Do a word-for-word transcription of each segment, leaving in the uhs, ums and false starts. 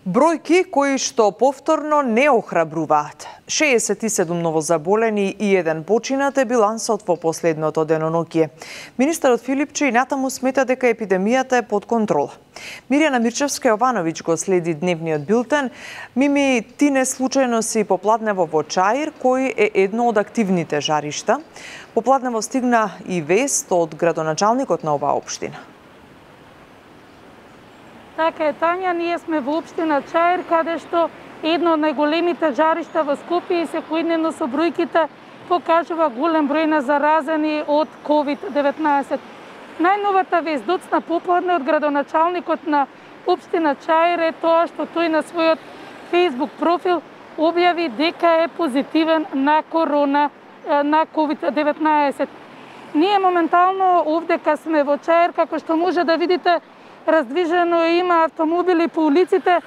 Бројки кои што повторно не охрабруваат. шеесет и седум новозаболени и еден починат е билансот во последното деноноќие. Министерот Филипче и натаму смета дека епидемијата е под контрола. Мирјана Мирчевска-Јовановиќ го следи дневниот билтен. Мими, ти не случајно си попладнево во Чаир, кој е едно од активните жаришта. Попладнево стигна и вест од градоначалникот на оваа општина. Така е, Тања, ние сме во општина Чаир, каде што едно од најголемите жаришта во Скопје и секојдневно со бројките покажува голем број на заразени од ковид деветнаесет. Најновата вест доцна попладне од градоначалникот на општина Чаир е тоа што тој на својот Facebook профил објави дека е позитивен на корона, на ковид деветнаесет. Ние моментално овдека сме во Чаир, како што може да видите, раздвижено има автомобили по улиците,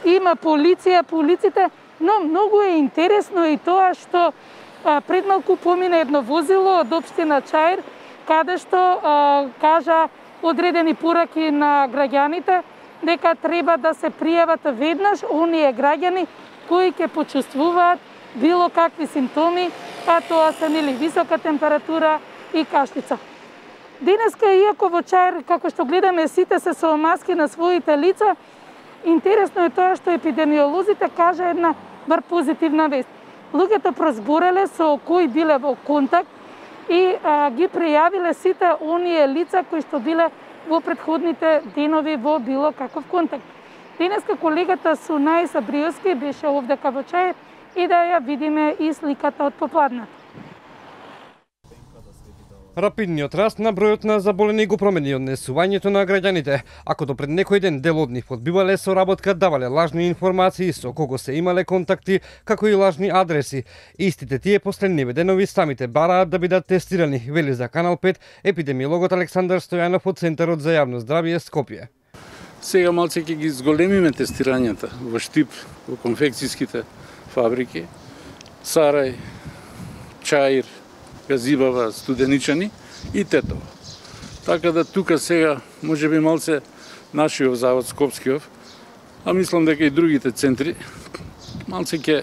има полиција по улиците, но многу е интересно и тоа што а, пред малку помина едно возило од општина Чаир, каде што а, кажа одредени пораки на граѓаните дека треба да се пријават веднаш оние граѓани кои ќе почувствуваат било какви симптоми, а тоа се нели висока температура и кашлица. Денеска, иако во Чаир, како што гледаме, сите се со маски на своите лица, интересно е тоа што епидемиолозите кажа една бар позитивна вест. Луѓето прозбореле со кои биле во контакт и а, ги пријавиле сите оние лица кои што биле во претходните денови во било каков контакт. Денеска колегата Сунај Сабриевски беше овдека во Чаир и да ја видиме и сликата од попладната. Рапидниот раст на бројот на заболени го промени однесувањето на граѓаните. Ако до пред некој ден дел од нив одбивале соработка, давале лажни информации со кого се имале контакти, како и лажни адреси. Истите тие последниве денови самите бараат да бидат тестирани, вели за Канал пет епидемиологот Александар Стојанов од Центарот за јавно здравје Скопје. Сега малце ќе ги зголемиме тестирањата во Штип, во конфекцијските фабрики, Сарај, Чаир, Газибава, Студеничани и Тетово. Така да тука сега може би малце нашиот завод Скопскиов, а мислам дека и другите центри малце ќе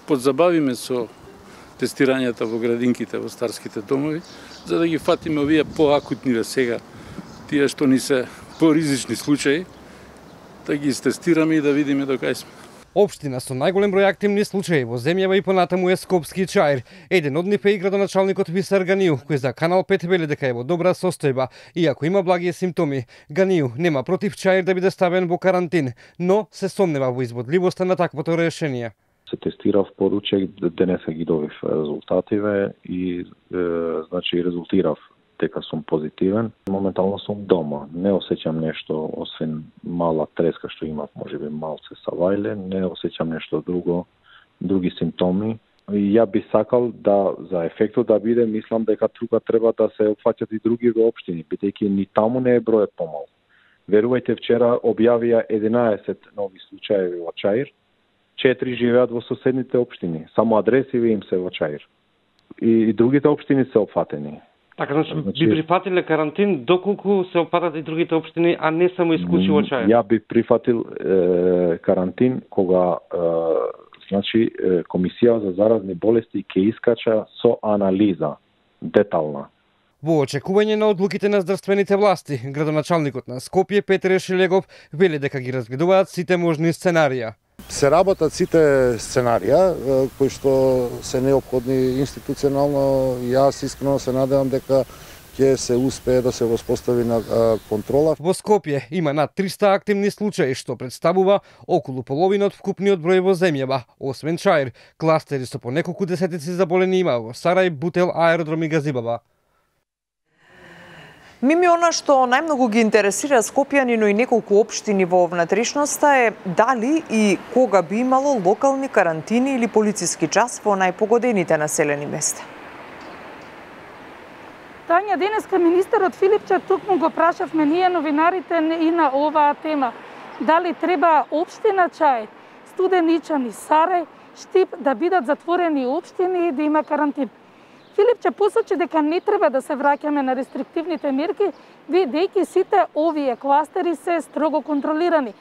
подзабавиме со тестирањата во градинките, во старските домови, за да ги фатиме овие поакутниве сега, тие што ни се поризични случаи, да ги истестираме и да видиме до кај сме. Општина со најголем број активни случаи во земјава и понатаму е Скопски Чаир. Еден од нив е и градоначалникот Висар Ганију, кој за Канал пет вели дека е во добра состојба, иако има благи симптоми. Ганију нема против Чаир да биде ставен во карантин, но се сомнева во изводливоста на таквото решение. Се тестирав поручек, денеска ги добив резултативе и е, значи резултирав дека сум позитивен. Моментално сум дома. Не осеќам нешто, освен мала треска што имав, можеби малце савајле, не осеќам нешто друго, други симптоми. И ја би сакал да за ефектот да биде, мислам дека тука треба да се опфаќат и други општини, бидејќи ни таму не е бројот помал. Верувајте, вчера објавија единаесет нови случаи во Чаир, четири живеат во соседните општини, само адресиви им се во Чаир. И, и другите општини се опфатени. Така, значи, би прифатиле карантин доколку се опатат и другите општини, а не само исклучиво Чаир? Ја би прифатил е, карантин кога е, значи е, Комисија за заразни болести ќе искача со анализа детална. Во очекување на одлуките на здравствените власти, градоначалникот на Скопје Петре Шилегов вели дека ги разгледуваат сите можни сценарија. Се работат сите сценарија кои што се неопходни институционално. Јас искрено се надевам дека ќе се успее да се воспостави на контрола. Во Скопје има над триста активни случаи, што представува околу половина од вкупниот број во земјава. Освен Чаир, кластери со по неколку десетици заболени има во Сарај, Бутел, Аеродром и Газибава. Мими, она што најмногу ги интересира скопјани, но и неколку општини во внатрешноста е дали и кога би имало локални карантини или полициски час во најпогодените населени места. Тања, денеска министерот Филипче токму го прашавме ние новинарите и на оваа тема. Дали треба општина Чаир, Студеничани, Сарај, Штип да бидат затворени општини и да има карантин. Филипче посочи дека не треба да се враќаме на рестриктивните мерки, бидејќи сите овие кластери се строго контролирани.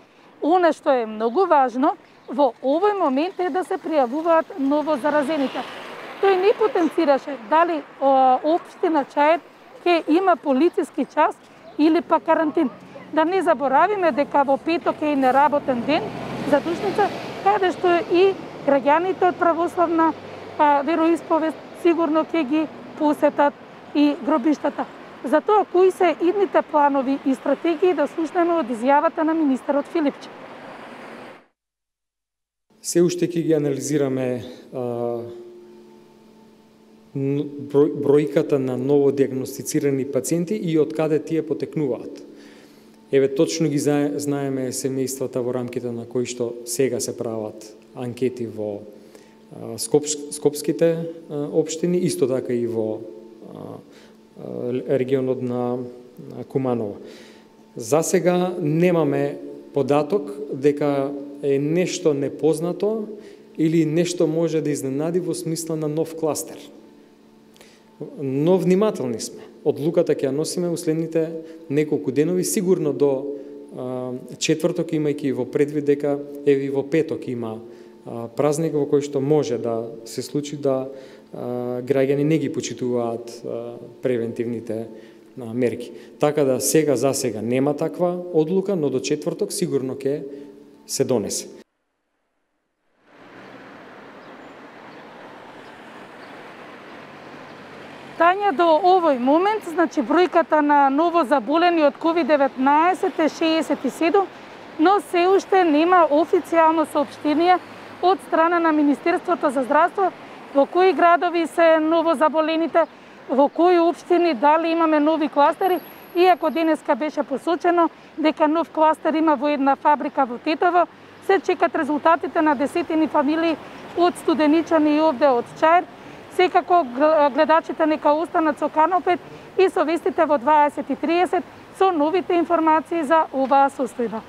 Оно што е многу важно во овој момент е да се пријавуваат ново заразените. Тој не потенцираше дали општина Чаир ќе има полициски час или па карантин. Да не заборавиме дека во петок е и неработен ден за Душница, каде што и граѓаните од православна вероисповест сигурно ќе ги посетат и гробиштата. Затоа кои се идните планови и стратегии да слушнеме од изјавата на министерот Филипче? Се уште ќе ги анализираме а, број, бројката на новодиагностицирани пациенти и од каде тие потекнуваат. Еве, точно ги знаеме семејствата во рамките на кои што сега се прават анкети во а, Скопс, скопските а, општини, исто така и во а, регионот на Куманово. За сега немаме податок дека е нешто непознато или нешто може да изненади во смисла на нов кластер. Но внимателни сме. Одлуката ќе ја носиме во следните неколку денови, сигурно до а, четврток, имајќи во предвид дека еви во петок има а, празник во кој што може да се случи да а, граѓани не ги почитуваат а, превентивните а, мерки. Така да сега за сега нема таква одлука, но до четврток сигурно ќе се донесе. Тања, до овој момент, значи бројката на ново заболени од ковид деветнаесет е шеесет и седум, но се уште нема официјално соопштение од страна на Министерството за здравство во кои градови се ново заболените, во кои општини, дали имаме нови кластери, иако денеска беше посочено дека нов кластер има во една фабрика во Тетово, се чекат резултатите на десетини фамилии од Студеничани и овде од Чаир. Секако гледачите нека останат со Канал пет и со вестите во дваесет и тридесет со новите информации за оваа состојба.